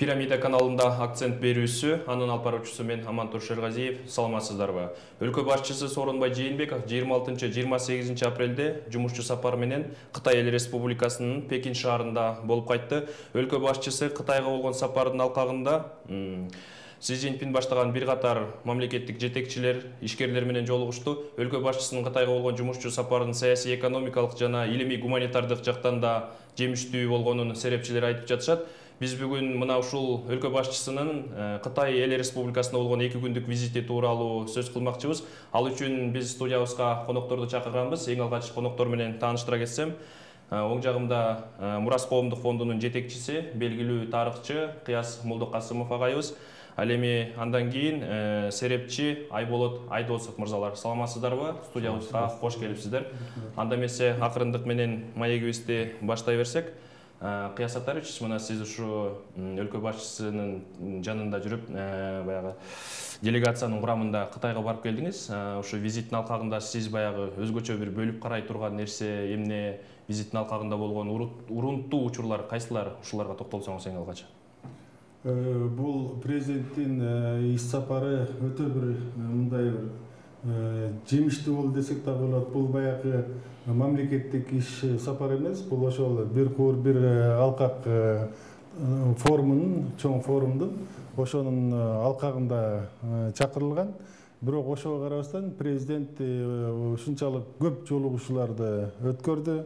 Пирамида каналында акцент берүүсү, анын алып баруучусу мен Амантур Шергазиев. Саламатсыздарбы? Өлкө башчысы Сооронбай Жээнбеков 26-28 апрелде жумушчу сапар менен Кытай Эл Республикасынын Пекин шаарында болуп кайтты. Өлкө башчысы Кытайга болгон сапардын алкагында Си Цзиньпин баштаган бир катар мамлекеттик жетекчилер, ишкерлер менен жолугушту. Өлкө башчысынын Кытайга болгон жумушчу сапарынын саясий, экономикалык жана илимий гуманитардык жактан да жемиштүү болгонун серепчилер айтып жатышат. Биз бүгүн мына ушул өлкө башчысынын Кытай Эл Республикасына болгон 2 күндүк визити тууралуу сөз кылмакчыбыз. Ал үчүн биз студиябызга конокторду чакырганбыз. Эң алгач коноктор менен тааныштыра кетсем, оң жагымда Мурас коомдук фондунун жетекчиси, белгилүү тарыхчы Кыяз Молдокасымов агайыбыз. Ал эми андан кийин серепчи Айболот Айдосов мырзалар. Саламатсыздарбы? Студиябызга кош келипсиздер. Анда эмесе акырындык менен маегибизди баштай берсек, Кыяз Атарович, мына сиз ушу өлкө башчысынын жанында жүрүп, баягы делегациянын курамында Кытайга барып келдиңиз. Ушу визиттин алкагында сиз баягы өзгөчө бир бөлүп карай турган нерсе эмне, визиттин алкагында болгон урунттуу учурлар кайсылар, ушуларга токтолсоңуз эң алгач. Бул президенттин иш сапары өтө бир мындай жемиштүү болду десек да болот. Бул баягы мамлекеттик иш сапары эмес, бул ошол бир куур бир алкак форумунун, чоң форумдун ошонун алкагында чакырылган. Бирок ошого карабастан президент ушунчалык көп жолугушууларды өткөрдү.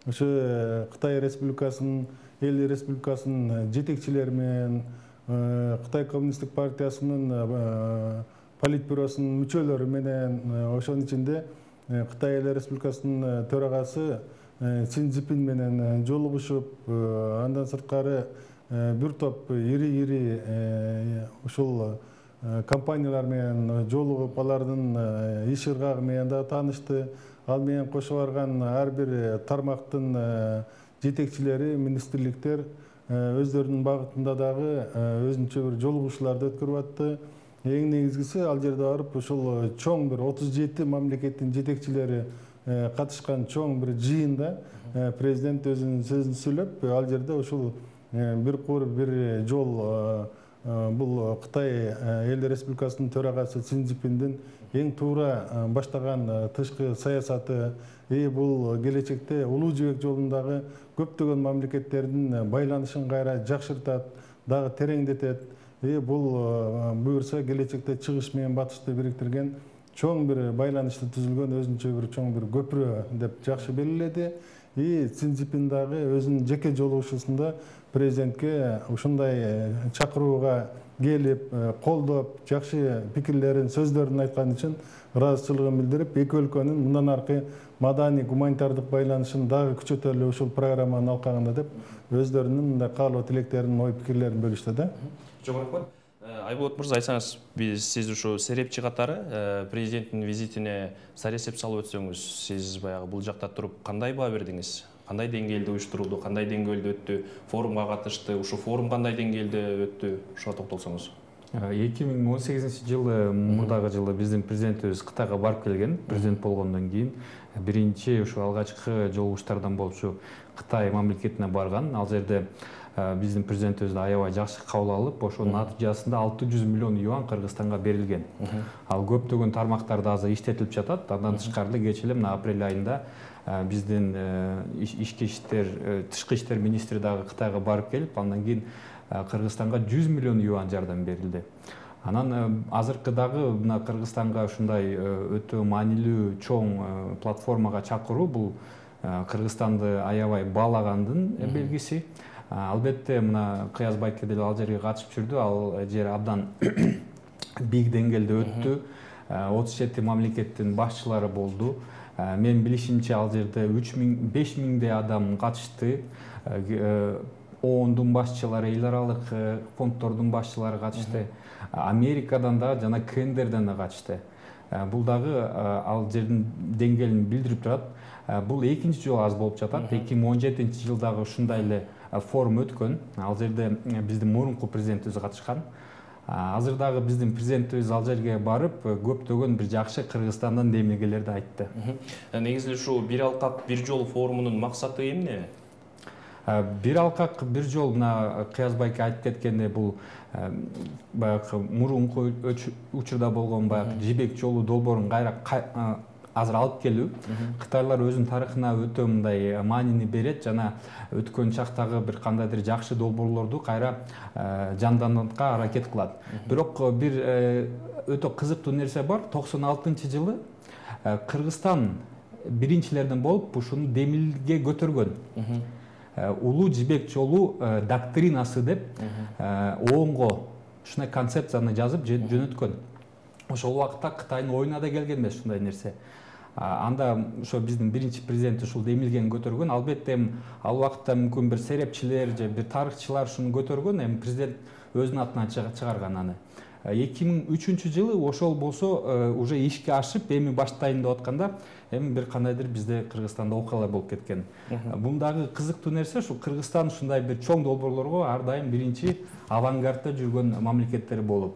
Ошо Кытай Республикасынын, Эл Республикасынын жетекчилери менен, Кытай Коммунисттик партиясынын политбюросунун мүчөлөрү менен, ошонун ичинде Кытай Эл Республикасынын төрагасы Си Цзиньпин менен жолугушуп, андан сырткары бир топ ири ушул компаниялар менен жолугуп, алардын иш ыргагы менен да таанышты. Ал менен кошо барган ар бир тармактын жетекчилери, министрликтер өздөрүнүн багытында дагы өзүнчө бир жолугушууларды өткөрүп атты. Эң негизгиси ал жерде барып ушул чоң бир 37 мамлекеттин жетекчилери катышкан чоң бир жыйында президент өзүнүн сөзүн сүйлөп, ал жерде ушул бир куур бир жол бул Кытай Эл Республикасынын төрагасы Си Цзиньпиндин эң туура баштаган тышкы саясаты, бул келечекте улуу жибек жолундагы көптөгөн мамлекеттердин байланышын кайра жакшыртат, дагы тереңдетет. Бул буюрса келечекте чыгыш менен батышты бириктирген чоң бир байланышты түзүлгөн өзүнчө бир чоң бир көпүрө деп жакшы белгиледи. Си Цзиньпин дагы өзүнүн жеке жолугушуусунда президентке ушундай чакырууга келип, колдоп, жакшы пикирлерин, сөздөрүн айткан үчүн ыраазычылыгын билдирип, эки өлкөнүн мындан аркы маданий гуманитардык байланышын дагы күчөтөлү ушул программанын алкагында деп өздөрүнүн мындай каалоо тилектерин, ой пикирлерин бөлүштү да. Чоң рахмат. Айболот мырза, айтсаңыз, сиз ушу серепчи катары президенттин визитине саресеп салып өтсөңүз, сиз баягы бул жакта туруп кандай баа бердиңиз? Кандай деңгээлде уюштурулду, кандай деңгээлде өттү, форумга катышты, ушу форум кандай деңгээлде өттү, ушуга токтолсоңуз. 2018 жылы, мурдагы жылы биздин президентибиз Кытайга барып келген. Президент болгондон кийин биринчи ушу алгачкы жолугуштардан болуп ушу Кытай мамлекетине барган. Ал жерде биздин президентибизди аябай жакшы кабыл алып, ошонун натыйжасында 600 миллион юан Кыргызстанга берилген. Ал көптөгөн тармактарда азыр иштетилип жатат. Андан тышкары кечээ эле мына апрель айында биздин ички иштер, тышкы иштер министри дагы Кытайга барып келип, андан кийин Кыргызстанга 100 миллион юан жардам берилди. Анан азыркы дагы мына Кыргызстанга ушундай өтө маанилүү чоң платформага чакыруу бул Кыргызстанды аябай баалагандын белгиси. Албетте мына Кыяз байке деле ал жерге катышып жүрдү. Ал жер абдан бийик деңгээлде өттү. 37 мамлекеттин башчылары болду. Мен билишимче ал жерде 5 адам катышты. ООНдун башчылары, эл аралык фонддордун башчылары катышты. Америкадан да жана КНДРден да катышты. Бул дагы ал жердин деңгээлин билдирип турат. Бул экинчи жолу аз болуп жатат. 2017 жылдагы ушундай эле форум өткөн. Ал жерде биздин мурунку президентибиз катышкан. Азыр дагы биздин президентибиз ал жерге барып, көптөгөн бир жакшы Кыргызстандан демилгелерди айтты. Негизи ушу бир алкак, бир жол форумунун максаты эмне? Бир алкак бир жол, мына Кыяз байке айтып кеткендей, бул баягы мурунку учурда болгон баягы жибек жолу долбоорун кайра азыр алып келүү. Кытайлар өзүнүн тарыхына өтө мындай маанини берет жана өткөн чактагы бир кандайдыр жакшы долбоорлорду кайра жандандырганга аракет кылат. Бирок бир өтө кызыктуу нерсе бар. 96-жылы Кыргызстан биринчилерден болуп ушуну демилге көтөргөн. Улуу жибек жолу доктринасы деп ООНго ушундай концепцияны жазып жөнөткөн. Ошол убакытта Кытайдын оюна да келген эмес ушундай нерсе. Анда ошо биздин биринчи президент ушул демилгени көтөргөн. Албетте ал убакытта мүмкүн бир серепчилер же бир тарыхчылар ушуну көтөргөн, эми президент өзүнүн атынан чыгарган аны. 2003-жылы ошол болсо уже ишке ашып, эми баштайын деп атканда, эми бир кандайдыр бизде Кыргызстанда окуялар болуп кеткен. Бундагы кызыктуу нерсе ушу Кыргызстан ушундай бир чоң долбоорлорго ар дайым биринчи авангардта жүргөн мамлекеттер болуп.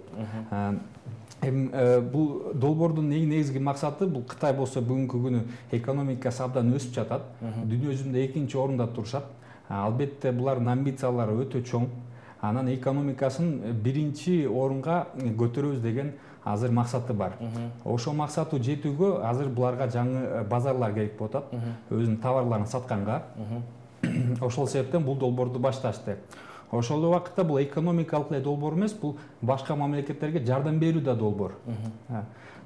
Бул долбоордун негизги максаты, бул Кытай болсо бүгүнкү күнү экономикасы абдан өсүп жатат, дүйнө жүзүндө экинчи орунда турушат. Албетте булардын амбициялары өтө чоң. Анан экономикасын биринчи орунга көтөрөбүз деген азыр максаты бар. Ошол максатты жетүүгө азыр буларга жаңы базарлар керек болуп атат, өзүнүн товарларын сатканга. Ошол себептен бул долбоорду башташты. Ошол убакытта бул экономикалык эле долбоор эмес, бул башка мамлекеттерге жардам берүү да долбоор.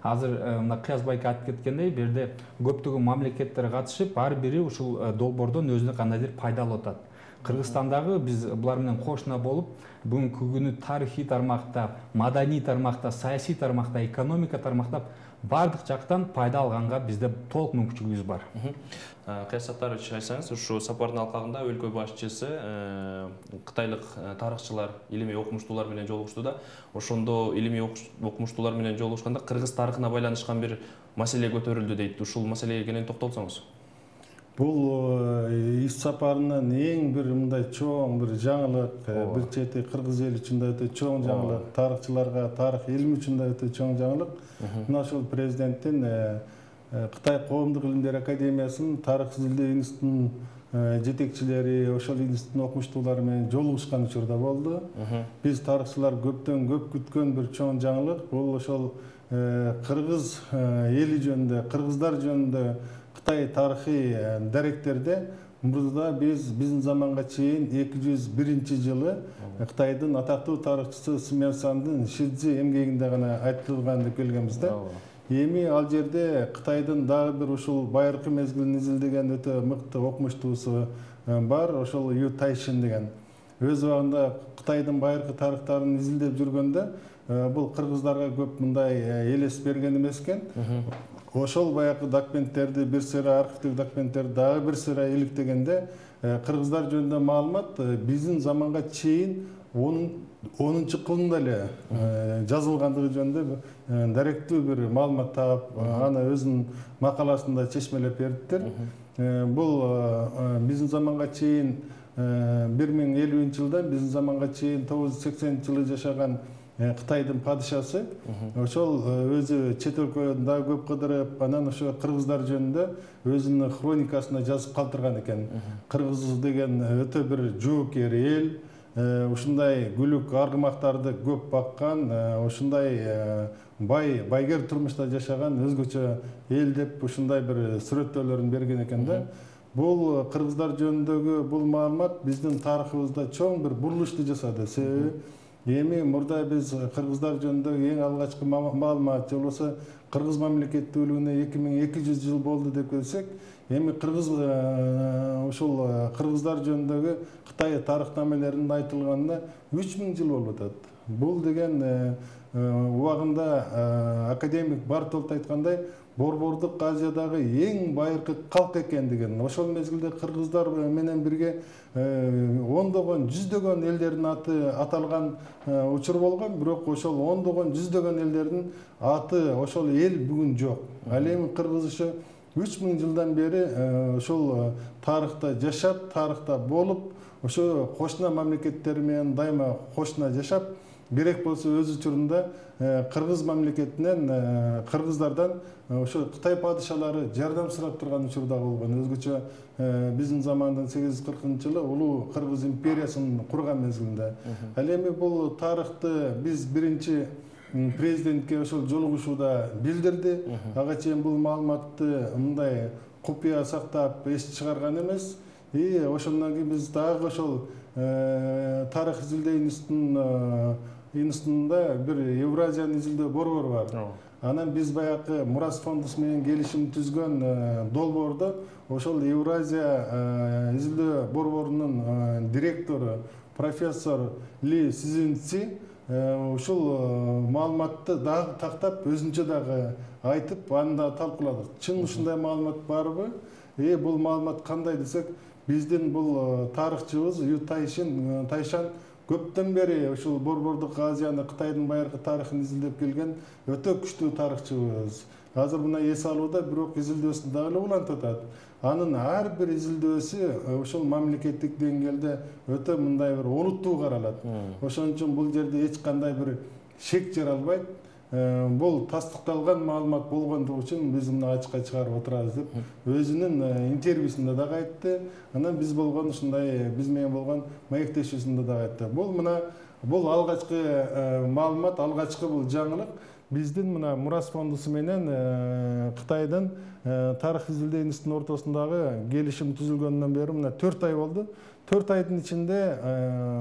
Азыр мына Кыяз байке айтып кеткендей, бу жерде көптөгөн мамлекеттер катышып, ар бири ушул долбоордон өзүнө кандайдыр пайда алып атат. Кыргызстандагы биз булар менен кошуна болуп, бүгүнкү күнү тарыхый тармакта, маданий тармакта, саясий тармакта, экономика тармакта бардык жактан пайда алганга бизде толук мүмкүнчүлүгүбүз бар. Кыяз Саттарович, айтсаңыз, ушу сапардын алкагында өлкө башчысы кытайлык тарыхчылар, илимий окумуштуулар менен жолугушту да, ошондо илимий окумуштуулар менен жолугушканда кыргыз тарыхына байланышкан бир маселе көтөрүлдү дейт. Ушул маселеге кенен токтолсоңуз. Бул иш сапарынын эң бир мындай чоң бир жаңылык, бир чети кыргыз эли үчүн да өтө чоң жаңылык, тарыхчыларга, тарых илими үчүн да өтө чоң жаңылык. Мына ошол президенттин Кытай коомдук илимдер академиясынын тарых изилдөө институтунун жетекчилери, ошол институттун окумуштуулары менен жолугушкан учурда болду. Биз тарыхчылар көптөн көп күткөн бир чоң жаңылык. Бул ошол кыргыз эли жөнүндө, кыргыздар жөнүндө Кытай тарыхый даректерде мурда биздин заманга чейин 201-жылы Кытайдын атактуу тарыхчысы Сымян Сандын Шидзи эмгегинде гана айтылган деп келгенбиз да. Эми ал жерде Кытайдын дагы бир ушул байыркы мезгилин изилдеген өтө мыкты окумуштуусу бар, ошол Ю Тайшин деген. Өз убагында Кытайдын байыркы тарыхтарын изилдеп жүргөндө бул кыргыздарга көп мындай элес берген эмес экен. Ошол баягы документтерди, бир сыйра архивдик документтерди дагы бир сыйра иликтегенде кыргыздар жөнүндө маалымат биздин заманга чейин 10-кылымда эле жазылгандыгы жөнүндө даректүү бир маалымат таап, аны өзүнүн макаласында чечмелеп бериптир. Бул биздин заманга чейин 1050-жылдан биздин заманга чейин 980-жылы жашаган Кытайдын падышасы, ошол өзү чет өлкөдөн дагы көп кыдырып, анан ошо кыргыздар жөнүндө өзүнүн хроникасына жазып калтырган экен. Кыргыз деген өтө бир жоокер эл, ушундай күлүк аргымактарды көп баккан, ушундай байгер турмушта жашаган өзгөчө эл деп ушундай бир сүрөттөөлөрүн берген экен да. Бул кыргыздар жөнүндөгү бул маалымат биздин тарыхыбызда чоң бир бурулушту жасады. Себеби эми мурда биз кыргыздар жөнүндө эң алгачкы маалымат же болбосо кыргыз мамлекеттүүлүгүнө 2200 жыл болду деп келсек, эми ушул кыргыздар жөнүндөгү Кытай тарыхнамелеринин айтылганына 3000 жыл болуп атат. Бул деген убагында академик Бартолт айткандай, Борбордук Азиядагы эң байыркы калк экендигин, ошол мезгилде кыргыздар менен бирге ондогон, жүздөгөн элдердин аты аталган учур болгон, бирок ошол ондогон, жүздөгөн элдердин аты ошол эл бүгүн жок. Ал эми кыргыз ушу 3000 жылдан бери ошол тарыхта жашап, тарыхта болуп, ошо кошуна мамлекеттер менен дайыма кошуна жашап, керек болсо өз учурунда кыргыз мамлекетинен кыргыздардан ошо Кытай падышалары жардам сурап турган учур да болгон. Өзгөчө биздин замандын 840-жылы улуу Кыргыз империясын курган мезгилинде. Ал эми бул тарыхты биз биринчи президентке ошол жолугушууда билдирди. Ага чейин бул маалыматты мындай купуя сактап эс чыгарган эмес. Ошондон кийин биз дагы ошол тарых изилдөө институтунда бир Евразиянын изилдөө борбору бар. Анан биз баягы Мурас фондусу менен келишим түзгөн долбоордо ошол Евразия изилдөө борборунун директору профессор Ли Сизинци ушул маалыматты дагы тактап өзүнчө дагы айтып, аны да талкууладык. Чын ушундай маалымат барбы? Бул маалымат кандай десек, биздин бул тарыхчыбыз Ю Тайшан көптөн бери ушул Борбордук Азияны, Кытайдын байыркы тарыхын изилдеп келген өтө күчтүү тарыхчыбыз. Азыр мына эс алууда, бирок изилдөөсүн дагы эле улантып атат. Анын ар бир изилдөөсү ошол мамлекеттик деңгээлде өтө мындай бир олуттуу каралат. Ошон үчүн бул жерде эч кандай бир шек жаралбайт. Бул тастыкталган маалымат болгондугу үчүн биз мына ачыкка чыгарып отурабыз деп өзүнүн интервьюсунда дагы айтты. Анан биз болгон ушундай биз менен болгон маектешүүсүндө дагы айтты. Бул алгачкы маалымат, алгачкы бул жаңылык. Биздин мына Мурас фондусу менен Кытайдын тарых изилдөө институтунун ортосундагы келишим түзүлгөндөн бери мына 4 ай болду. 4 айдын ичинде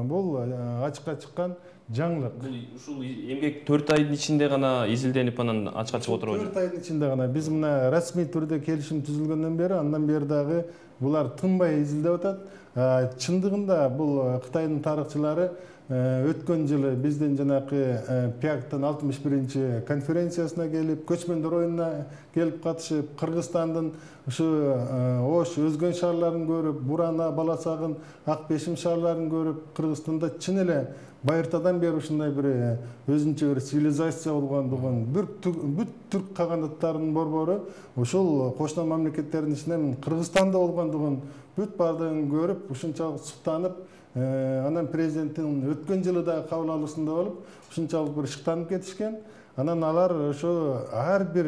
бул ачыкка чыккан жаңылык. Ушул эмгек 4 айдын ичинде гана изилденип анан ачыкка чыгып отурабы? 4 айдын ичинде гана. Биз мына расмий түрдө келишим түзүлгөндөн бери, андан бери дагы булар тынбай изилдеп атат. Чындыгында бул Кытайдын тарыхчылары өткөн жылы биздин жанакы ПИАКтын 61-чи конференциясына келип, көчмөндөр оюнуна келип катышып, Кыргызстандын ушу Ош өзгөн шаарларын көрүп, Бурана, Баласагын, Ак Бешим шаарларын көрүп, Кыргызстанда чын эле байыртадан бери ушундай бир өзүнчө бир цивилизация болгондугун, бүт түрк кагандаттарынын борбору ушул кошуна мамлекеттердин ичинен Кыргызстанда болгондугун бүт баардыгын көрүп, ушунчалык суктанып, анан президенттин өткөн жылы да кабыл алуусунда болуп, ушунчалык бир шыктанып кетишкен. Анан алар ошо ар бир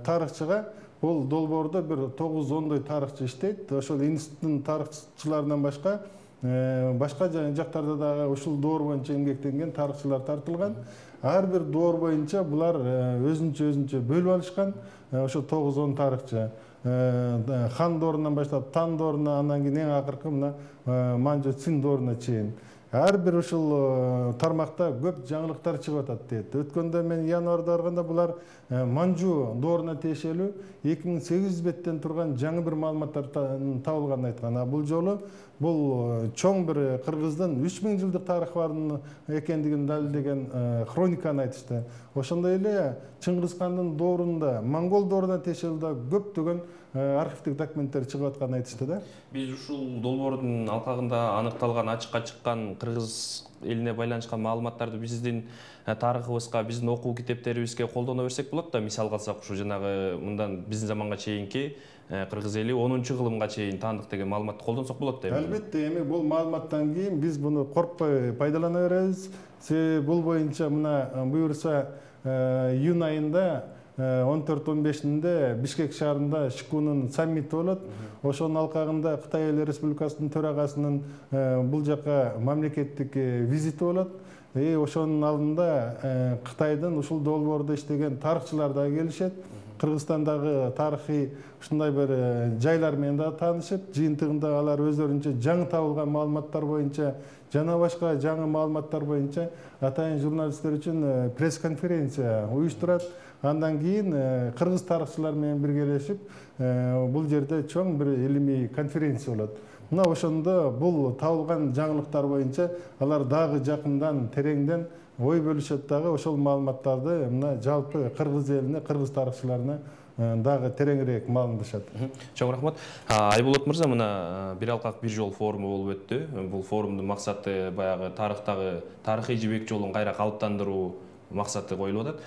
тарыхчыга бул долбоордо бир 9-10 тарыхчы иштейт. Ошол институттун тарыхчыларынан башка жактарда дагы ушул доор боюнча эмгектенген тарыхчылар тартылган. Ар бир доор боюнча булар өзүнчө бөлүп алышкан. Ошо 9-10 тарыхчы. Хан доорунан баштап Тан дооруна, андан кийин эң акыркы мына Манжу Цин дооруна чейин. Ар бир ушул тармакта көп жаңылыктар чыгып атат дейт. Өткөндө мен январда барганда булар Манжу дооруна тиешелүү 2800 беттен турган жаңы бир маалыматтар табылганын айткан. Бул жолу бул чоң бир Кыргыздын 3000 жылдык тарыхы бар экендигин далилдеген хрониканы айтышты. Ошондой эле Чыңгызхандын доорунда, Монгол дооруна тиешелүү көптөгөн архивдик документтер чыгып атканын айтышты да. Биз ушул долбоордун алкагында аныкталган, ачыкка чыккан кыргыз элине байланышкан маалыматтарды биздин тарыхыбызга, биздин окуу китептерибизге колдоно берсек болот да. Мисал калсак, ушу жанагы мындан биздин заманга чейинки кыргыз эли 10-кылымга чейин таандык деген маалыматты колдонсок болот да. Албетте, эми бул маалыматтан кийин биз буну коркпой пайдалана беребиз. Бул боюнча мына буюрса июнь айында 14-15-inde Бишкек шаарында Шикунун саммити болот. Ошонун алкагында Кытай Эл Республикасынын төрагасынын бул жака мамлекеттик визити болот. Ошонун алдында Кытайдын ушул долбоордо иштеген тарыхчылар да келишет. Кыргызстандагы тарыхый ушундай бир жайлар менен да таанышып, жыйынтыгында алар өздөрүнчө жаңы табылган маалыматтар боюнча жана башка жаңы маалыматтар боюнча атайын журналисттер үчүн пресс-конференция уюштурат. Андан кийин кыргыз тарыхчылар менен биргелешип, бул жерде чоң бир илимий конференция болот. Мына ошондо бул табылган жаңылыктар боюнча алар дагы жакындан, тереңден ой бөлүшөт дагы ошол маалыматтарды мына жалпы кыргыз элине, кыргыз тарыхчыларына дагы тереңирээк маалымдашат. Чоң рахмат. Айболот мырза, мына бир алкак бир жол форуму болуп өттү. Бул форумдун максаты баягы тарыхтагы тарыхый жибек жолун кайра калыптандыруу максаты коюлуп атат.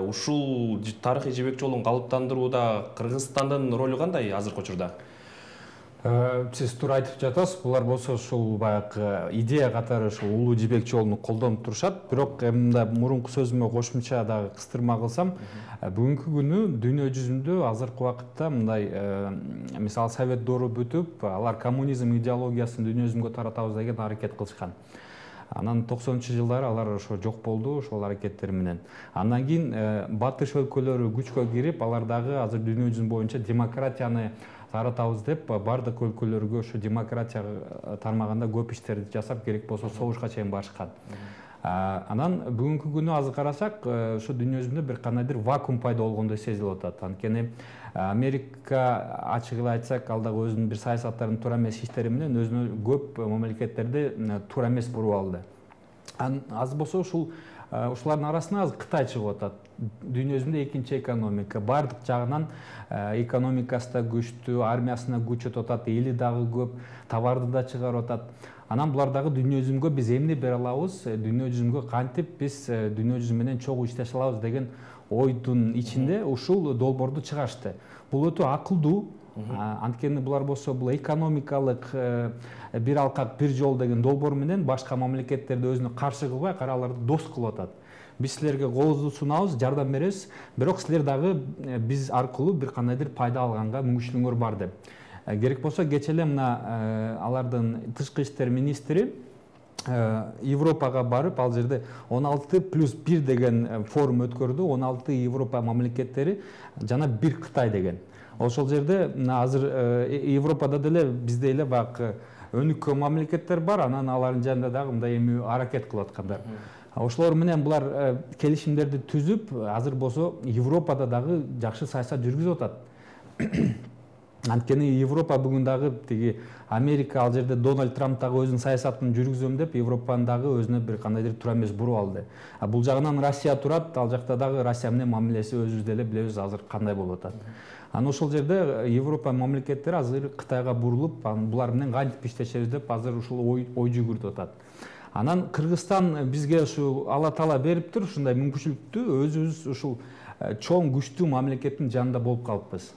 Ушул тарыхый жибек жолун калыптандырууда Кыргызстандын ролу кандай азыркы учурда? Сиз туура айтып жатасыз. Булар болсо ушул баягы идея катары ушул улуу жибек жолун колдонуп турушат. Бирок мында мурунку сөзүмө кошумча дагы кыстырма кылсам, бүгүнкү күнү дүйнө жүзүндө азыркы убакытта мындай мисалы Совет доору бүтүп, алар коммунизм идеологиясын дүйнө жүзүнгө таратабыз деген аракет кылышкан. Анан 90-жылдары алар ошо жок болду, ошол аракеттер менен. Андан кийин батыш өлкөлөрү күчкө кирип, алар дагы азыр дүйнө жүзү боюнча демократияны таратабыз деп бардык өлкөлөргө ошо демократия тармагында көп иштерди жасап, керек болсо согушка чейин барышкан. Анан бүгүнкү күнү азыр карасак, ошо дүйнө жүзүндө бир кандайдыр вакуум пайда болгондой сезилип атат. Анткени Америка ачык эле айтсак, ал дагы өзүнүн бир саясаттарын туура эмес иштери менен өзүнө көп мамлекеттерди туура эмес буруп алды. Азыр болсо ушулардын арасына азыр Кытай чыгып атат. Дүйнө жүзүндө экинчи экономика, бардык жагынан экономикасы да күчтүү, армиясына күч өтүп атат, эли дагы көп, товарды да чыгарып атат. Анан булар дагы дүйнө жүзүнгө биз эмне бере алабыз, дүйнө жүзүнгө кантип биз дүйнө жүзү менен чогуу иштеше алабыз деген ойдун ичинде ушул долбоорду чыгарышты. Бул өтө акылдуу. Анткени булар болсо бул экономикалык бир алкак бир жол деген долбоор менен башка мамлекеттерди өзүнө каршы кылбай, аларды дос кылып атат. Биз силерге колубузду сунабыз, жардам беребиз, бирок силер дагы биз аркылуу бир кандайдыр пайда алганга мүмкүнчүлүгүңөр бар деп. Керек болсо кечээ эле мына алардын тышкы иштер министри Европага барып, ал жерде 16+1 деген форум өткөрдү. 16 Европа мамлекеттери жана бир Кытай деген. Ошол жерде азыр Европада деле бизде эле баягы өнүккөн мамлекеттер бар, анан алардын жанында дагы мындай эми аракет кылып аткандар. Ошолор менен булар келишимдерди түзүп, азыр болсо Европада дагы жакшы саясат жүргүзүп атат. Анткени Европа бүгүн дагы тиги Америка ал жерде Дональд Трамп дагы өзүнүн саясатын жүргүзөм деп Европаны дагы өзүнө бир кандайдыр туура эмес буруп алды. Бул жагынан Россия турат, ал жакта дагы Россия менен мамилеси өзүбүз деле билебиз азыр кандай болуп атат. Анан ошол жерде Европа мамлекеттери азыр Кытайга бурулуп, булар менен кантип иштешебиз деп азыр ушул ой жүгүртүп атат. Анан Кыргызстан бизге ушу Алла Таала бериптир ушундай мүмкүнчүлүктү, өзүбүз ушул чоң күчтүү мамлекеттин жанында болуп калыппыз.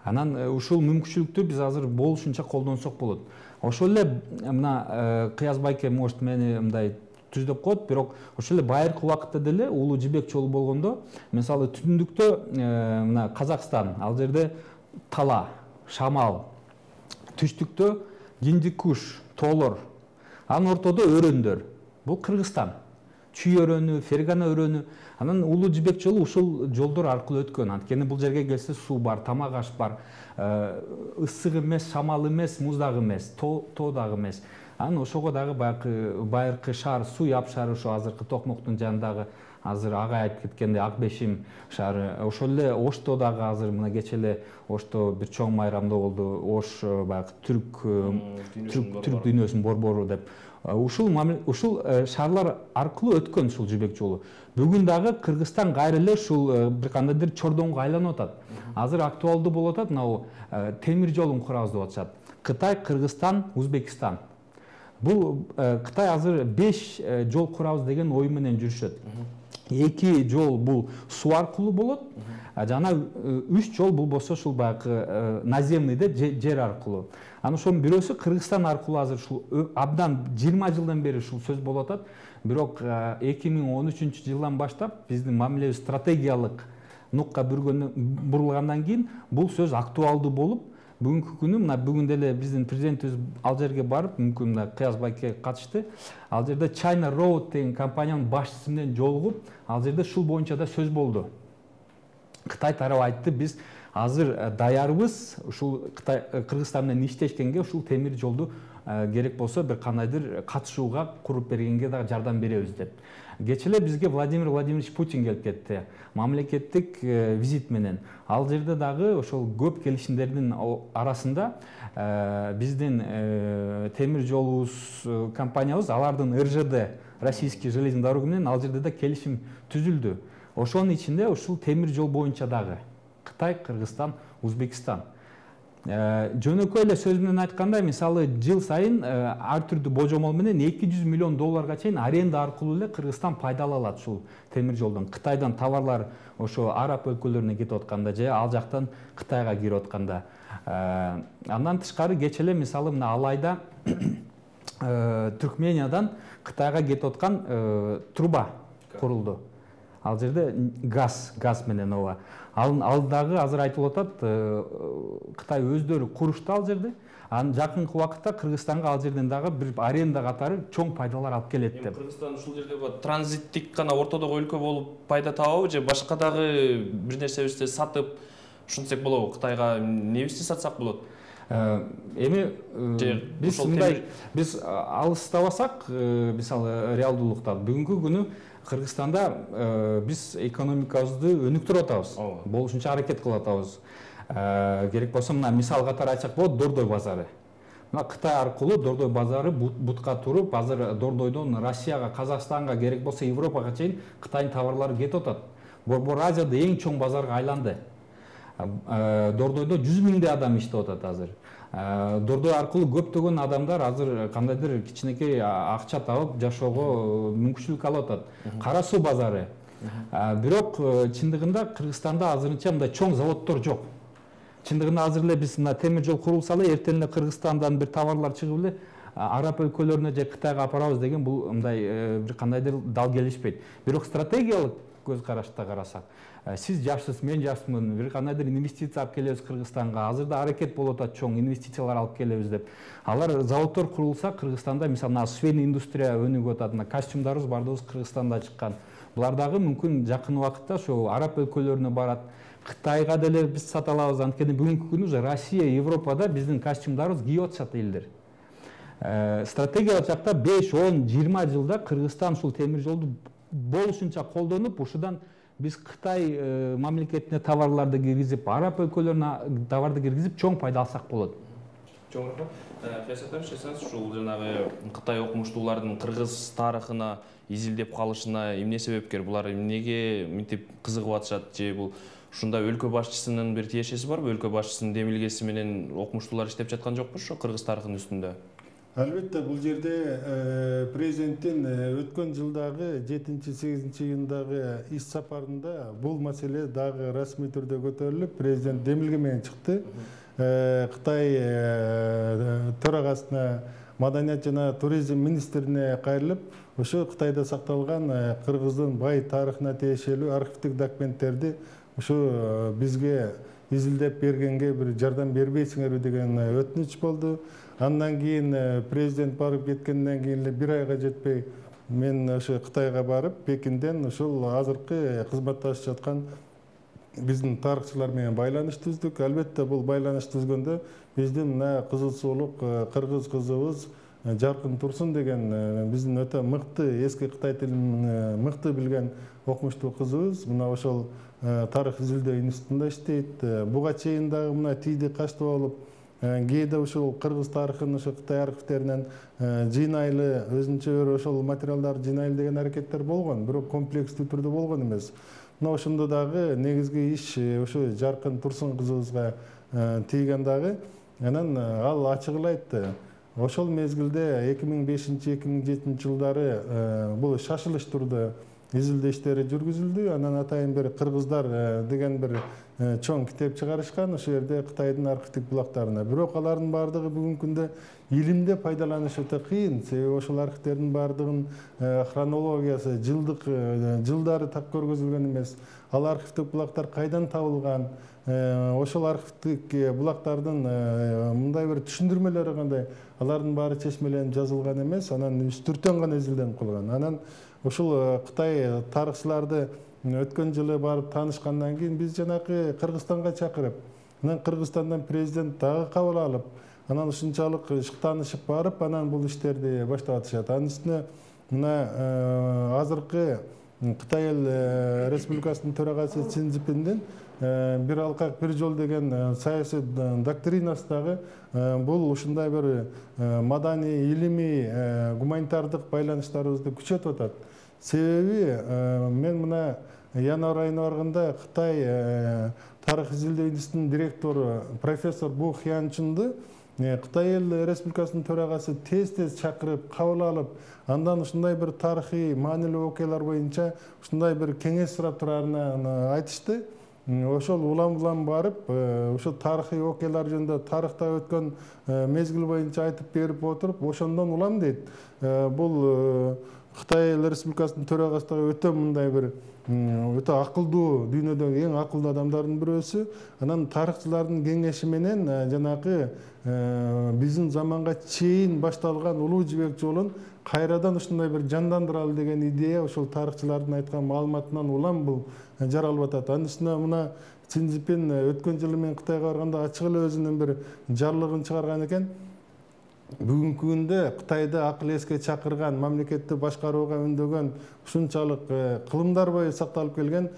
Анан ушул мүмкүнчүлүктү биз азыр болушунча колдонсок болот. Ошол эле мына Кыяз байке может мени мындай түздөп коет, бирок ошол эле байыркы убакытта деле улуу жибек жолу болгондо, мисалы түндүктө мына Казакстан, ал жерде Тала, Шамал, түштүктө Гиндикуш, Тоолор, анын ортодо өрөндөр. Бул Кыргызстан. Чүй өрөнү, Фергана өрөнү. Анан улуу жибек жолу ушул жолдор аркылуу өткөн. Анткени бул жерге келсе суу бар, тамак аш бар, ысык эмес, шамал эмес, муз дагы эмес, тоо дагы эмес. Анан ошого дагы байыркы шаар, суу яп шаары ошо азыркы Токмоктун жанындагы азыр агай айтып кеткендей Ак Бешим шаары. Ошол эле Ошто дагы азыр мына кечээ эле Ошто бир чоң майрамда болду. Ош баягы түрк дүйнөсүнүн борбору деп. Ушул шаарлар аркылуу өткөн ушул жибек жолу. Бүгүн дагы Кыргызстан кайра эле ушул бир кандайдыр чордоңго айланып атат. Азыр актуалдуу болуп атат, мына темир жолун курабыз деп атышат. Кытай, Кыргызстан, Узбекистан. Бул Кытай азыр 5 жол курабыз деген ой менен жүрүшөт. 2 жол бул суу аркылуу болот, жана 3 жол бул болсо ушул баягы наземныйда жер аркылуу. Анан ошонун бирөөсү Кыргызстан аркылуу азыр ушул абдан 20 жылдан бери ушул сөз болуп атат. Бирок 2013-жылдан баштап биздин мамилебиз стратегиялык нукка бурулгандан кийин бул сөз актуалдуу болуп, бүгүнкү күнү мына бүгүн деле биздин президентибиз ал жерге барып, мүмкүн мына Кыяз байке катышты. Ал жерде China Road деген компаниянын башчысы менен жолугуп, ал жерде ушул боюнча да сөз болду. Кытай тарабы айтты, биз азыр даярбыз ушул Кыргызстан менен иштешкенге, ушул темир жолду керек болсо бир кандайдыр катышууга, куруп бергенге дагы жардам беребиз деп. Кечээ эле бизге Владимир Владимирович Путин келип кетти, мамлекеттик визит менен. Ал жерде дагы ошол көп келишимдердин арасында биздин темир жолубуз компаниябыз, алардын РЖД, Российский железный дороги менен ал жерде да келишим түзүлдү. Ошонун ичинде ушул темир жол боюнча дагы Кытай, Кыргызстан, Узбекистан. Жөнөкөй эле сөз менен айтканда, мисалы жыл сайын ар түрдүү божомол менен $200 миллион чейин аренда аркылуу эле Кыргызстан пайдалана алат ушул темир жолдон. Кытайдан товарлар ошо араб өлкөлөрүнө кетип атканда же ал жактан Кытайга кирип атканда. Андан тышкары кечээ эле мисалы мына Алайда Түркмениядан Кытайга кетип аткан труба курулду. Ал жерде газ менен ооба. Ал дагы азыр айтылып атат, Кытай өздөрү курушту ал жерде. Анын жакынкы убакытта Кыргызстанга ал жерден дагы бир аренда катары чоң пайдалар алып келет деп. Кыргызстан ушул жерде транзиттик гана ортодогу өлкө болуп пайда табабы же башка дагы бир нерсебизди сатып ушинтсек болобу? Кытайга эмнебизди сатсак болот? Эми биз алыстабасак, мисалы реалдуулукта бүгүнкү күнү Кыргызстанда биз экономикабызды өнүктүрүп атабыз. Болушунча аракет кылып атабыз. Керек болсо мына мисал катары айтсак болот, Дордой базары. Мына Кытай аркылуу Дордой базары бутка туруп, азыр Дордойдон Россияга, Казакстанга, керек болсо Европага чейин Кытайдын товарлары кетип атат. Борбор Азияда эң чоң базарга айланды. Дордойдо 100 миңдей адам иштеп атат азыр. Дордой аркылуу көптөгөн адамдар азыр кандайдыр кичинекей акча табып жашоого мүмкүнчүлүк алып атат. Кара суу базары. Бирок чындыгында Кыргызстанда азырынча мындай чоң заводдор жок. Чындыгында азыр эле биз мына темир жол курулса эле эртең эле Кыргызстандан бир товарлар чыгып эле Араб өлкөлөрүнө же Кытайга апарабыз деген бул мындай бир кандайдыр дал келишпейт. Бирок стратегиялык көз карашта карасак, сиз жашсыз, мен жашмын, бир кандайдыр инвестиция алып келебиз Кыргызстанга. Азырда аракет болуп атат чоң инвестициялар алып келебиз деп. Алар заводдор курулса, Кыргызстанда мисалы мына швейный индустрия өнүгүп атат. Мына костюмдарыбыз бардыгыбыз Кыргызстанда чыккан. Булар дагы мүмкүн жакын убакытта ошо Араб өлкөлөрүнө барат. Кытайга деле биз сата алабыз. Анткени бүгүнкү күнү уже Россия, Европада биздин костюмдарыбыз кийип атышат элдер. Стратегиялык жакта 5, 10, 20 жылда Кыргызстан ушул темир жолду болушунча колдонуп, ушудан биз Кытай мамлекетине товарларды киргизип, Араб өлкөлөрүнө товарды киргизип, чоң пайда алсак болот. Чоң рахмат. Ушул жанагы Кытай окумуштуулардын кыргыз тарыхына изилдеп калышына эмне себепкер? Булар эмнеге мынтип кызыгып атышат? Же бул ушунда өлкө башчысынын бир тиешеси барбы? Өлкө башчысынын демилгеси менен окумуштуулар иштеп жаткан жокпу ошо кыргыз тарыхынын үстүндө? Албетте, бул жерде президенттин өткөн жылдагы 7-8 июндагы иш сапарында бул маселе дагы расмий түрдө көтөрүлүп, президент демилге менен чыкты. Кытай төрагасына, маданият жана туризм министрине кайрылып, ошо Кытайда сакталган кыргыздын бай тарыхына тиешелүү архивдик документтерди ошо бизге изилдеп бергенге бир жардам бербейсиңерби деген өтүнүч болду. Андан кийин президент барып кеткенден кийин эле бир айга жетпей мен ошо Кытайга барып, Пекинден ошол азыркы кызматташып жаткан биздин тарыхчылар менен байланыш түздүк. Албетте, бул байланыш түзгөндө биздин мына кызыл суулук кыргыз кызыбыз Жаркын Турсун деген биздин өтө мыкты, эски Кытай тилин мыкты билген окумуштуу кызыбыз мына ошол тарых изилдөө институтунда иштейт. Буга чейин дагы мына тийди качты болуп, кээде ушул кыргыз тарыхын ошо Кытай архивтеринен жыйнайлы, өзүнчө бир ошол материалдарды жыйнайлы деген аракеттер болгон, бирок комплекстүү түрдө болгон эмес. Мына ошондо дагы негизги иш ошо Жаркын Турсун кызыбызга тийген дагы. Анан ал ачык эле айтты. Ошол мезгилде 2005-2007 жылдары бул шашылыш турда изилдөө иштери жүргүзүлдү. Анан атайын бир кыргыздар деген бир чоң китеп чыгарышкан ошол жерде Кытайдын архивдик булактарына. Бирок алардын баардыгы бүгүнкү күндө илимде пайдаланыш өтө кыйын. Себеби ошол архивтердин баардыгынын хронологиясы, жылдары так көргөзүлгөн эмес. Ал архивдик булактар кайдан табылган? Ошол архивдик булактардын мындай бир түшүндүрмөлөрү кандай? Алардын баары чечмеленип жазылган эмес. Анан үстүртөн гана изилденип калган. Анан ушул Кытай тарыхчыларды өткөн жылы барып таанышкандан кийин биз жанакы Кыргызстанга чакырып, анан Кыргызстандан президент дагы кабыл алып, анан ушунчалык таанышып барып, анан бул иштерди баштап атышат. Анын үстүнө мына азыркы Кытай эл Республикасынын төрагасы Си Цзиньпиндин бир алкак бир жол деген саясий доктринасы дагы бул ушундай бир маданий, илимий, гуманитардык байланыштарыбызды күчөтүп атат. Себеби мен мына январь айына барганда Кытай тарых изилдөө институтунун директору профессор Бу Хьянчунду Кытай эл Республикасынын төрагасы тез-тез чакырып, кабыл алып, андан ушундай бир тарыхый маанилүү окуялар боюнча ушундай бир кеңеш сурап турарына айтышты. ошол улам барып ошо тарыхый окуялар жөнүндө тарыхта өткөн мезгил боюнча айтып берип отуруп ошондон улам дейт. Бул Кытай Эл Республикасынын төрагасындагы өтө мындай бир өтө акылдуу, дүйнөдөгү эң акылдуу адамдардын бирөөсү. Анан тарыхчылардын кеңеши менен жанагы биздин заманга чейин башталган улуу жибек жолун кайрадан ушундай бир жандандыралы деген идея ошол тарыхчылардын айткан маалыматынан улам бул жаралып атат. Анын үстүнө мына Си Цзиньпин өткөн жылы мен Кытайга барганда ачык эле өзүнүн бир жарлыгын чыгарган экен. Бүгүнкү күндө Кытайда акыл эске чакырган, мамлекетти башкарууга үндөгөн ушунчалык кылымдар бою сакталып келген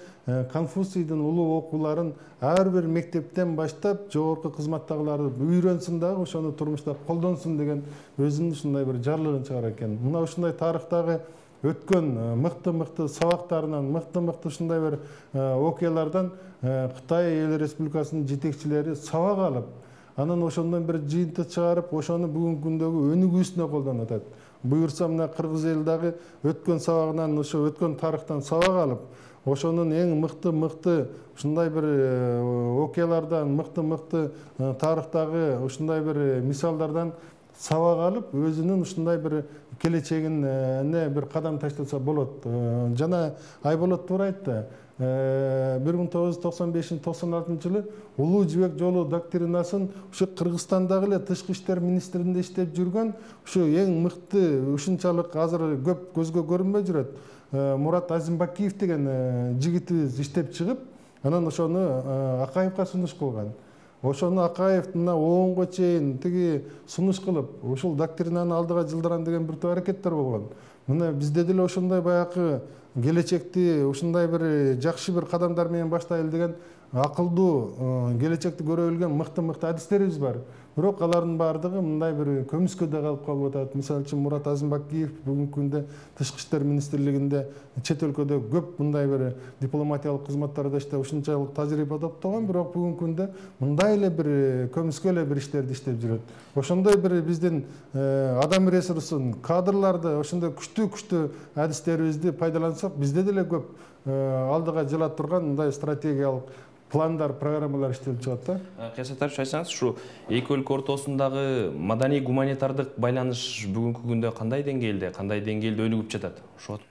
Конфуцийдин улуу окууларын ар бир мектептен баштап жогорку кызматтагылар үйрөнсүн дагы ошону турмушта колдонсун деген өзүнүн ушундай бир жарлыгын чыгарат экен. Мына ушундай тарыхтагы өткөн мыкты сабактарынан, мыкты ушундай бир окуялардан Кытай Эл Республикасынын жетекчилери сабак алып, анан ошондон бир жыйынтык чыгарып, ошону бүгүнкү күндөгү өнүгүүсүнө колдонуп атат. Буюрса мына Кыргыз эл дагы өткөн сабагынан, ошо өткөн тарыхтан сабак алып, ошонун эң мыкты ушундай бир окуялардан, мыкты тарыхтагы ушундай бир мисалдардан сабак алып, өзүнүн ушундай бир келечегине бир кадам таштаса болот. Жана Айболот туура айтты. 1995-96 жылы улуу жибек жолу доктринасын ушу Кыргызстандагы эле тышкы иштер министрлигинде иштеп жүргөн, ушу эң мыкты, ушунчалык азыр көп көзгө көрүнбөй жүрөт. Мурат Азимбакиев деген жигитибиз иштеп чыгып, анан ошону Акаевка сунуш кылган. Ошону Акаев мына оонго чейин тиги сунуш кылып, ушул доктринаны алдыга жылдырам деген бир топ аракеттер болгон. Мына бизде деле ошондой баягы келечекти ушундай бир жакшы бир кадамдар менен баштайлы деген акылдуу, келечекти көрө билген мыкты адистерибиз бар. Бирок алардын баардыгы мындай бир көмүскөдө калып атат. Мисалы үчүн Мурат Азимбакиев бүгүнкү күндө тышкы иштер министрлигинде чет өлкөдө көп мындай бир дипломатиялык кызматтарда иштеп ушунчалык тажрыйба топтогон, бирок бүгүнкү күндө мындай эле бир көмүскө эле бир иштерди иштеп жүрөт. Ошондой бир биздин адам ресурсун, кадрларды, ошондой күчтүү адистерибизди пайдалансак, бизде деле көп алдыга жыла турган мындай стратегиялык пландар, программалар иштелип чыгат да. Кыйсатарыч айтсаңыз, ушу эки өлкө ортосундагы маданий гуманитардык байланыш бүгүнкү күндө кандай деңгээлде өнүгүп жатат? Ошого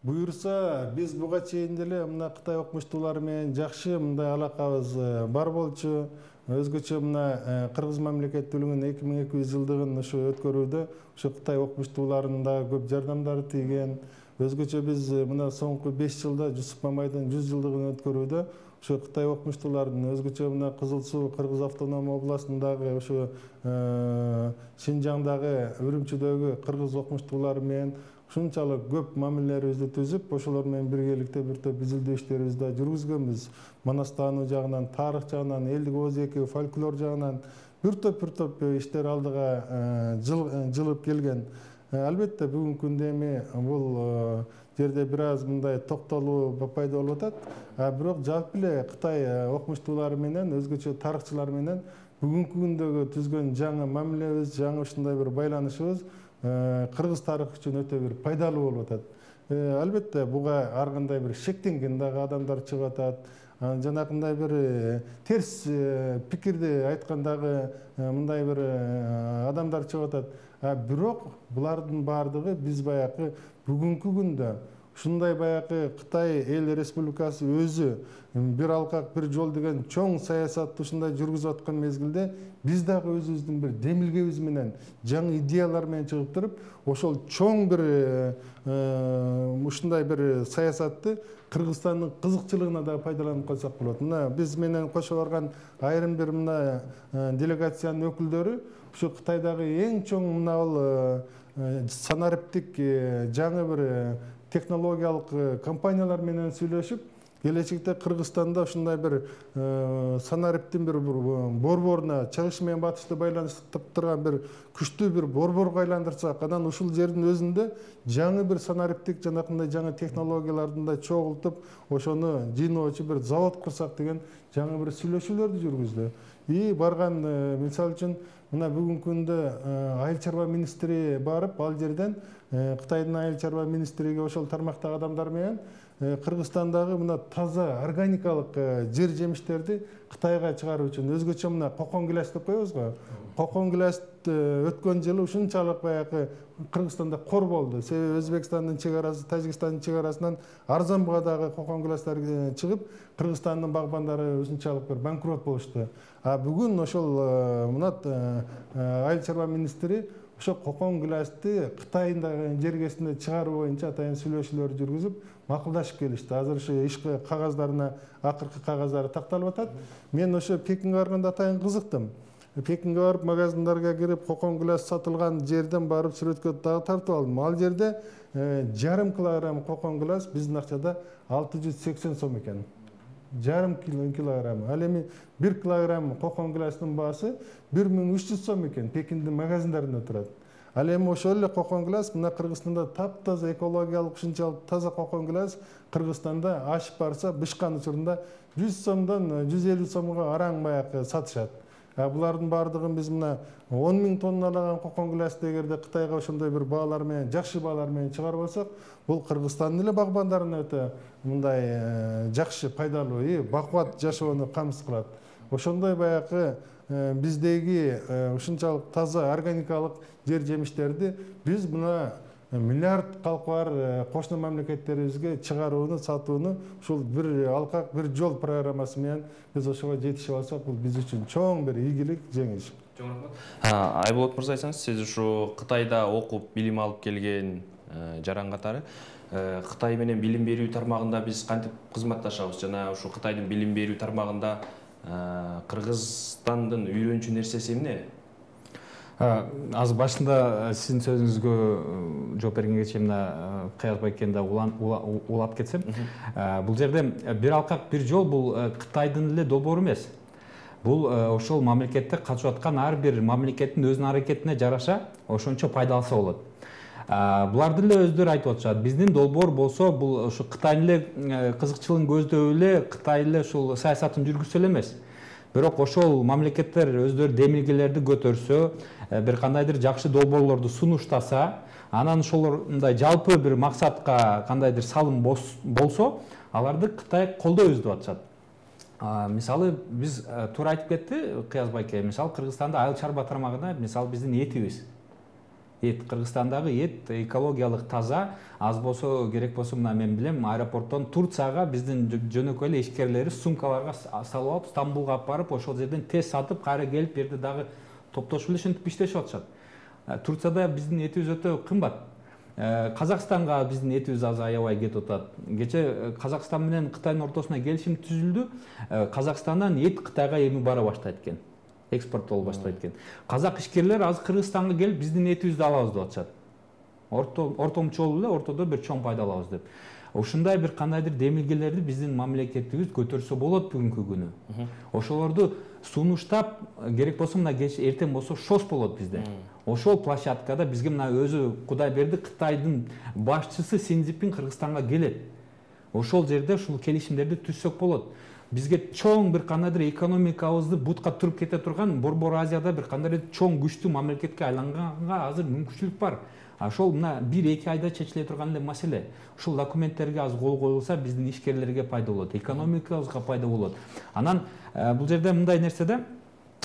буюрса, биз буга чейин деле мына Кытай окумуштуулары менен жакшы мындай алакабыз бар болчу. Өзгөчө мына Кыргыз мамлекеттүүлүгүнүн 2200 жылдыгын ушу өткөрүүдө ушу Кытай окумуштууларынын да көп жардамдары тийген. Өзгөчө биз мына соңку 5 жылда Жусуп Мамайдын 100 жылдыгын өткөрүүдө ушу Кытай окумуштууларынын өзгөчө мына Кызыл Суу Кыргыз автономия областындагы ушу Шинжаңдагы Үрүмчүдөгү кыргыз окумуштуулары менен ушунчалык көп мамилелерибизди түзүп, ошолор менен биргеликте бир топ изилдөө иштерибизди да жүргүзгөнбүз. Манастануу жагынан, тарых жагынан, элдик оозеки, фольклор жагынан бир топ иштер алдыга жылып келген. Албетте бүгүнкү күндө эми бул жерде бир аз мындай токтолуу пайда болуп атат. Бирок жалпы эле Кытай окумуштуулары менен, өзгөчө тарыхчылар менен бүгүнкү күндөгү түзгөн жаңы мамилебиз, жаңы ушундай бир байланышыбыз кыргыз тарыхы үчүн өтө бир пайдалуу болуп атат. Албетте буга ар кандай бир шектенген дагы адамдар чыгып атат. Жанакындай бир терс пикирди айткан дагы мындай бир адамдар чыгып атат. Бирок булардын баардыгы биз баягы бүгүнкү күндө ушундай баягы Кытай Эл Республикасы өзү бир алкак бир жол деген чоң саясатты ушундай жүргүзүп аткан мезгилде биз дагы өзүбүздүн бир демилгебиз менен, жаңы идеялар менен чыгып туруп, ошол чоң бир ушундай бир саясатты Кыргызстандын кызыкчылыгына да пайдаланып калсак болот. Мына биз менен кошо барган айрым бир мына делегациянын өкүлдөрү ушу Кытайдагы эң чоң мына бул санариптик жаңы бир технологиялык компаниялар менен сүйлөшүп, келечекте Кыргызстанда ушундай бир санариптин бир борборуна чыгыш менен батышты байланыштырып турган бир күчтүү бир борборго айландырсак, анан ушул жердин өзүндө жаңы бир санариптик жанакындай жаңы технологиялардын да чогултуп, ошону жыйноочу бир завод курсак деген жаңы бир сүйлөшүүлөрдү жүргүздү. Барган мисалы үчүн мына бүгүнкү күндө айыл чарба министри барып, ал жерден Кытайдын айыл чарба министриге ошол тармактагы адамдар менен Кыргызстандагы мына таза органикалык жер жемиштерди Кытайга чыгаруу үчүн өзгөчө мына кокон гилас деп коебуз го. Кокон гилас өткөн жылы ушунчалык баягы Кыргызстанда кор болду. Себеби Өзбекстандын чегарасы, Тажикстандын чегарасынан арзан баадагы кокон гиластар чыгып, Кыргызстандын багбандары ушунчалык бир банкрот болушту. А бүгүн ошол мына айыл чарба министри ошо кокон гиласты Кытайдагы жергесинде чыгаруу боюнча атайын сүйлөшүүлөр жүргүзүп, макулдашып келишти. Азыр ошо иш кагаздарына акыркы кагаздары такталып атат. Мен ошо Пекинге барганда атайын кызыктым. Пекинге барып, магазиндарга кирип, кокон гилас сатылган жерден барып сүрөткө дагы тартып алдым. Ал жерде жарым килограмм кокон гилас биздин акчада 680 сом экен. Жарым килограмм. Ал эми 1 килограмм кокон гиластын баасы 1300 сом экен. Пекиндин магазиндарында турат. Ал эми ошол эле кокон гилас мына Кыргызстанда таптаза экологиялык ушунчалык таза кокон гилас Кыргызстанда ашып барса, бышкан учурунда 100 сомдон 150 сомго араң баягы сатышат. Булардын бардыгын биз мына 10 000 тонналаган кокон гиласты эгерде Кытайга ошондой бир баалар менен, жакшы баалар менен чыгарып алсак, бул Кыргызстандын эле багбандарына өтө мындай жакшы, пайдалуу, бакубат жашоону камсыз кылат. Ошондой баягы биздеги ушунчалык таза органикалык жер жемиштерди биз мына миллиард калкы бар кошуна мамлекеттерибизге чыгарууну, сатууну ушул бир алкак, бир жол программасы менен биз ошого жетишип алсак, бул биз үчүн чоң бир ийгилик, жеңиш. Чоң рахмат. Айболот мырза, айтсаңыз, сиз ушу Кытайда окуп, билим алып келген жаран катары Кытай менен билим берүү тармагында биз кантип кызматташабыз? Жана ушу Кытайдын билим берүү тармагында Кыргызстандын үйрөнчү нерсеси эмне? Азыр башында сиздин сөзүңүзгө жооп бергенге чейин Кыяз байкени да улап кетсем, бул жерде бир алкак бир жол бул Кытайдын эле долбоору эмес. Бул ошол мамлекетте катышып аткан ар бир мамлекеттин өзүнүн аракетине жараша ошончо пайдаланса болот. Буларды эле өздөрү айтып атышат. Биздин долбоор болсо, бул ушу Кытайдын эле кызыкчылыгын көздөп эле, Кытай эле ушул саясатын жүргүзсө эле эмес. Бирок ошол мамлекеттер өздөрү демилгелерди көтөрсө, бир кандайдыр жакшы долбоорлорду сунуштаса, анан ошолорундай жалпы бир максатка кандайдыр салым болсо, аларды Кытай колдойбуз деп атышат. Мисалы, биз туура айтып кетти Кыяз байке, мисалы Кыргызстанда айыл чарба тармагында мисалы биздин этибиз. Кыргызстандагы эт экологиялык таза, аз болсо керек болсо мына мен билем, аэропорттон Турцияга биздин жөнөкөй эле ишкерлери сумкаларга салып алып, Стамбулга алып барып, ошол жерден тез сатып, кайра келип берди дагы топтошуп эле ушинтип иштешип атышат. Турцияда биздин этибиз өтө кымбат. Казакстанга биздин этибиз азыр аябай кетип атат. Кече Казакстан менен Кытайдын ортосуна келишим түзүлдү. Казакстандан эт Кытайга эми бара баштайт экен. Экспорт болуп баштайт экен. Казак ишкерлер азыр Кыргызстанга келип биздин этибизди алабыз деп атышат. Ортомчу эле ортодо бир чоң пайда алабыз деп. Ушундай бир кандайдыр демилгелерди биздин мамлекетибиз көтөрсө болот бүгүнкү күнү. Ошолорду сунуштап, керек болсо мына кеч эртең болсо ШОС болот бизде. Ошол площадкада бизге мына өзү Кудай берди, Кытайдын башчысы Си Цзиньпин Кыргызстанга келет. Ошол жерде ушул келишимдерди түзсөк болот. Бизге чоң бир кандайдыр экономикабызды бутка туруп кете турган Борбор Азияда бир кандайдыр чоң күчтүү мамлекетке айланганга азыр мүмкүнчүлүк бар. Ошол мына 1-2 айда чечиле турган эле маселе. Ушул документтерге аз кол коюлса, биздин ишкерлерге пайда болот, экономикабызга пайда болот. Анан бул жерде мындай нерседе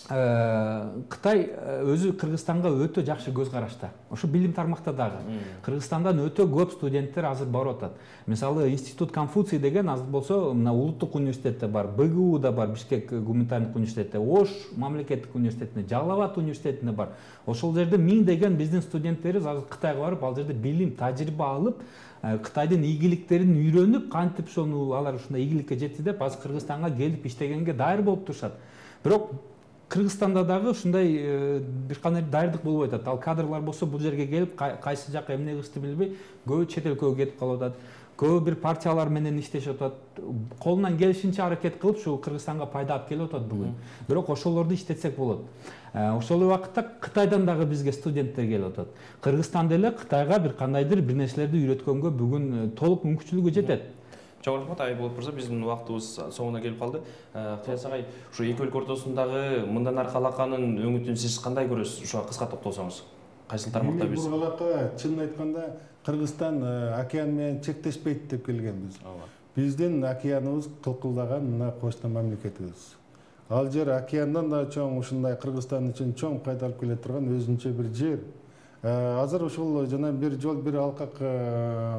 Кытай өзү Кыргызстанга өтө жакшы көз карашта. Ошо билим тармакта дагы. Кыргызстандан өтө көп студенттер азыр барып атат. Мисалы, Институт Конфуций деген азыр болсо, мына улуттук университетте бар, БГУ да бар, Бишкек гуманитардык университетте, Ош мамлекеттик университетинде, Жалал Абад университетинде бар. Ошол жерде 1000 деген биздин студенттерибиз азыр Кытайга барып, ал жерде билим, тажрыйба алып, Кытайдын ийгиликтерин үйрөнүп, кантип ошону алар ушундай ийгиликке жетти деп, азыр Кыргызстанга келип иштегенге дайыр болуп турушат. Бирок Кыргызстанда дагы ушундай бир кандай дайырдык болбой атат. Ал кадрлар болсо бул жерге келип, кайсы жака эмне кылышты билбей, көбү чет элге кетип калып атат. Көбү бир партиялар менен иштешип атат. Колунан келишинче аракет кылып, ушу Кыргызстанга пайда алып келип атат бүгүн. Бирок ошолорду иштетсек болот. Ошол убакытта Кытайдан дагы бизге студенттер келип атат. Кыргызстан деле Кытайга бир кандайдыр бир нерселерди үйрөткөнгө бүгүн толук мүмкүнчүлүгү жетет. Чоң рахмат, Айболот мырза, биздин убактыбыз соңуна келип калды. Кыяз агай, ушу эки өлкө ортосундагы мындан аркы алаканын өңүтүн сиз кандай көрөсүз? Ушуга кыска токтолсоңуз. Кайсыл тармакта биз? Бул алака чынын айтканда Кыргызстан океан менен чектешпейт деп келгенбиз. биздин океаныбыз кылкылдаган мына кошуна мамлекетибиз. Ал жер океандан да чоң, ушундай Кыргызстан үчүн чоң пайда алып келе турган өзүнчө бир жер. Азыр ушул жана бир жол бир алкак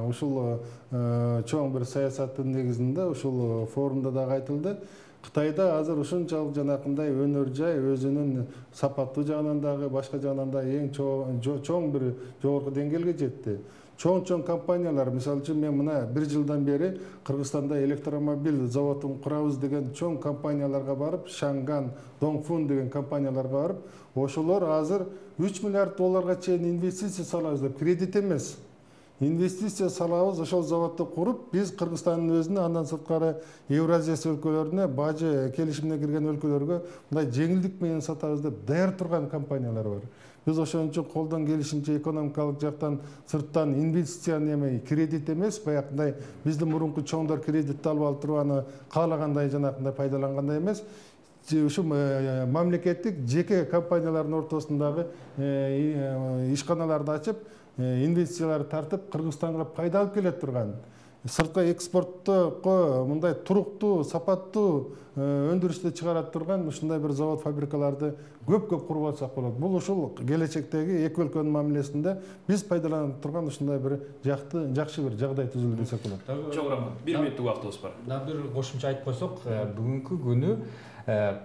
ушул чоң бир саясаттын негизинде ушул форумда дагы айтылды. Кытайда азыр ушунчалык жанакындай өнөр жай өзүнүн сапаттуу жагынан дагы башка жагынан да эң чоң бир жогорку деңгээлге жетти. Чоң компаниялар, мисалы үчүн мен мына 1 жылдан бери Кыргызстанда электромобиль заводун курабыз деген чоң компанияларга барып, Шанган, Донгфун деген компанияларга барып, ошолор азыр 3 миллиард долларга чейин инвестиция салабыз деп, кредит эмес. Инвестиция салабыз, ошол заводду куруп, биз Кыргызстандын өзүнө, андан сырткары Евразия өлкөлөрүнө, бажы келишимине кирген өлкөлөргө мындай жеңилдик менен сатабыз деп даяр турган компаниялар бар. Биз ошон үчүн колдон келишинче экономикалык жактан сырттан инвестицияны эмей, кредит эмес, баягындай биздин мурунку чоңдор кредит алып туруп аны каалагандай жанакындай пайдалангандай эмес, ушу мамлекеттик жеке компаниялардын ортосундагы ишканаларды ачып, инвестицияларды тартып, Кыргызстанга пайда алып келе турган, сыртка экспорттко мындай туруктуу, сапаттуу өндүрүштү чыгарат турган ушундай бир завод, фабрикаларды көп куруп алсак болот. Бул ушул келечектеги эки өлкөнүн мамилесинде биз пайдаланып турган ушундай бир жакшы бир жагдай түзүлдү десек болот. Чоң рахмат. 1 мүнөттүк убактыбыз бар. Да бир кошумча айтып койсок, бүгүнкү күнү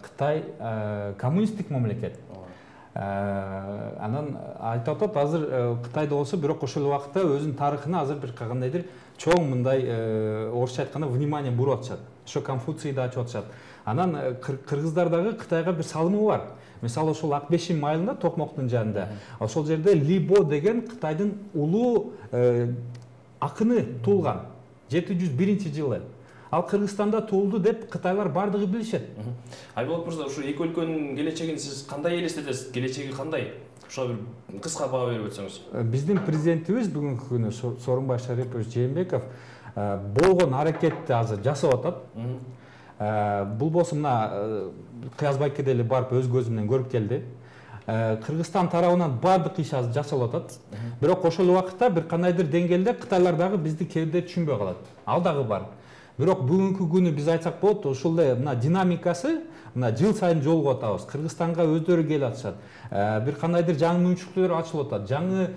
Кытай коммунисттик мамлекет. Анан айтып атат, азыр Кытайда болсо, бирок ошол убакытта өзүнүн тарыхына азыр бир кандайдыр чоң мындай орусча айтканда внимание буруп атышат. Ошо Конфуцийди ачып атышат. Анан кыргыздардагы Кытайга бир салымы бар. Мисалы ошол Акбешим майылында, Токмоктун жанында, ошол жерде Либо деген Кытайдын улуу акыны туулган 701-жылы. Ал Кыргызстанда туулду деп Кытайлар бардыгы билишет. Айболот мырза, ушу эки өлкөнүн келечегин сиз кандай элестетесиз? Келечеги кандай? Ошо бир кыска баа берип өтсөңүз. Биздин президентибиз бүгүнкү күнү Сооронбай Шарипович Жээнбеков болгон аракетти азыр жасап атат. Бул болсо мына Кыязбайке деле барып өз көзү менен көрүп келди. Кыргызстан тарабынан бардык иш азыр жасалып атат. Бирок ошол убакытта бир кандайдыр деңгээлде Кытайлар дагы бизди кээде түшүнбөй калат. Ал дагы бар. Бирок бүгүнкү күнү биз айтсак болот, ушул мына динамикасы мына жыл сайын жолугуп атабыз. Кыргызстанга өздөрү келип атышат. Бир кандайдыр жаңы мүмкүнчүлүктөр ачылып атат, жаңы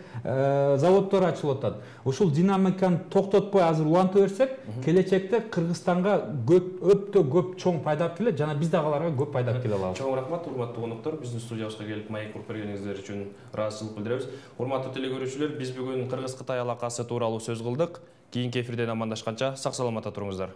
заводдор ачылып атат. Ушул динамиканы токтотпой азыр уланта берсек, келечекте Кыргызстанга өтө көп чоң пайда алып келет, жана биз дагы аларга көп пайда алып келе алабыз. Чоң рахмат, урматтуу коноктор, биздин студиябызга келип маек куруп бергениңиздер үчүн ыраазычылык билдиребиз. Урматтуу телекөрүүчүлөр, биз бүгүн Кыргыз-Кытай алакасы тууралуу сөз кылдык. Кийинки эфирден амандашканча сак саламатта туруңуздар.